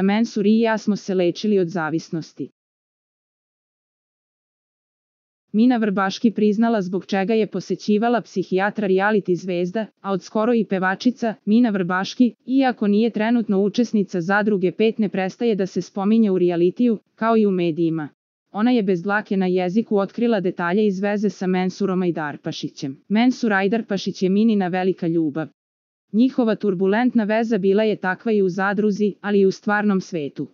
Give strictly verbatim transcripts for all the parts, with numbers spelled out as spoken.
Mensur i ja smo se lečili od zavisnosti. Mina Vrbaški priznala zbog čega je posećivala psihijatra reality zvezda, a od skoro i pevačica, Mina Vrbaški, iako nije trenutno učesnica Zadruge pet, ne prestaje da se spominje u realitiju, kao i u medijima. Ona je bez dlake na jeziku otkrila detalje iz veze sa Mensurom Ajdarpašićem. Mensur Ajdarpašić je Minina velika ljubav. Njihova turbulentna veza bila je takva i u Zadruzi, ali i u stvarnom svetu.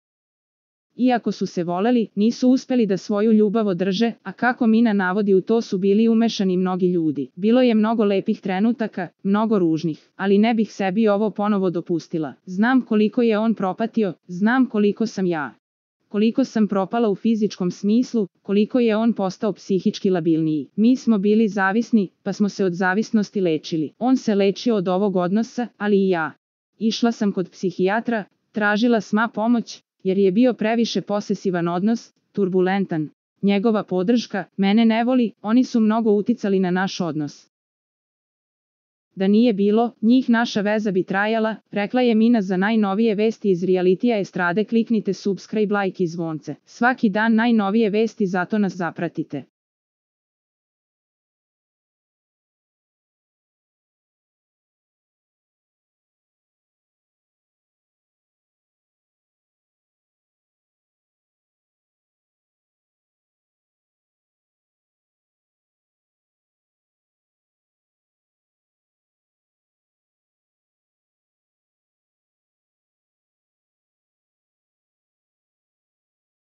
Iako su se voleli, nisu uspeli da svoju ljubav održe, a kako Mina navodi, u to su bili umešani mnogi ljudi. Bilo je mnogo lepih trenutaka, mnogo ružnih, ali ne bih sebi ovo ponovo dopustila. Znam koliko je on propatio, znam koliko sam ja. Koliko sam propala u fizičkom smislu, koliko je on postao psihički labilniji. Mi smo bili zavisni, pa smo se od zavisnosti lečili. On se lečio od ovog odnosa, ali i ja. Išla sam kod psihijatra, tražila sma pomoć, jer je bio previše posesivan odnos, turbulentan. Njegova podrška, mene ne voli, oni su mnogo uticali na naš odnos. Da nije bilo njih, naša veza bi trajala, rekla je Mina. Za najnovije vesti iz realitija estrade kliknite subscribe, like i zvonce. Svaki dan najnovije vesti, zato nas zapratite.